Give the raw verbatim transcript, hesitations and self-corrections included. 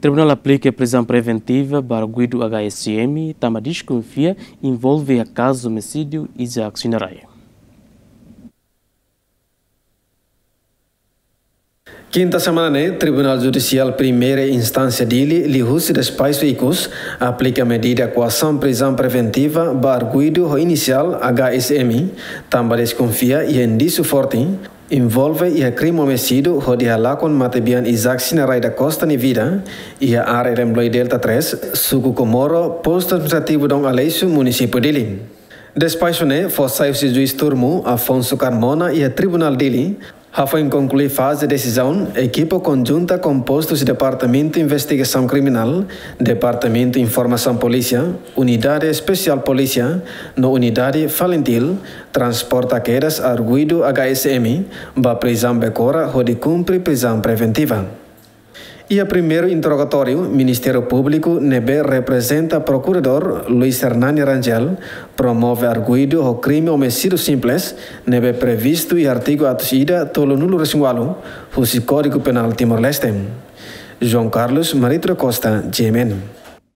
Tribunál aplika prizaun preventiva ba arguidu H S M tanba deskonfia envolve iha kazu omisídiu Isaac Sinarai. Kinta semana ne'e, Tribunál Judisiál Primeira Instánsia Dili, liuhusi despaxu ikus, aplika medida koasaun prizaun preventiva ba arguidu ho inisiál H S M, tanba deskonfia iha indísiu forte envolve iha krime omisídiu hodi halakon matebian Isaac Sinarai da Costa nia vida, iha área Rembloi Delta três, suku Comoro, postu administrativu Dom Aleixo, munisípiu Dili. Despaxu ne'e fó sai husi juís turmu Afonso Carmona iha Tribunál Dili, hafoin konklui faze desizaun, ekipa konjunta kompostu husi Departamentu Investigasaun Kriminál, Departamentu Informasaun Polísia, Unidade Espesiál Polísia, no Unidade Falintil, transporta kedas arguidu H S M ba prizaun Becora hodi kumpre prizaun preventiva. Iha primeiru interrogatóriu, Ministériu Públiku ne'ebé reprezenta Prokuradór Luis Hernani Rangel promove arguidu ho krime omisídiu simples ne'ebé previstu iha artigu atus ida tolunulu-resin-ualu husi Kódigu Penál Timor-Leste. João Carlos Marito da Costa, G M N.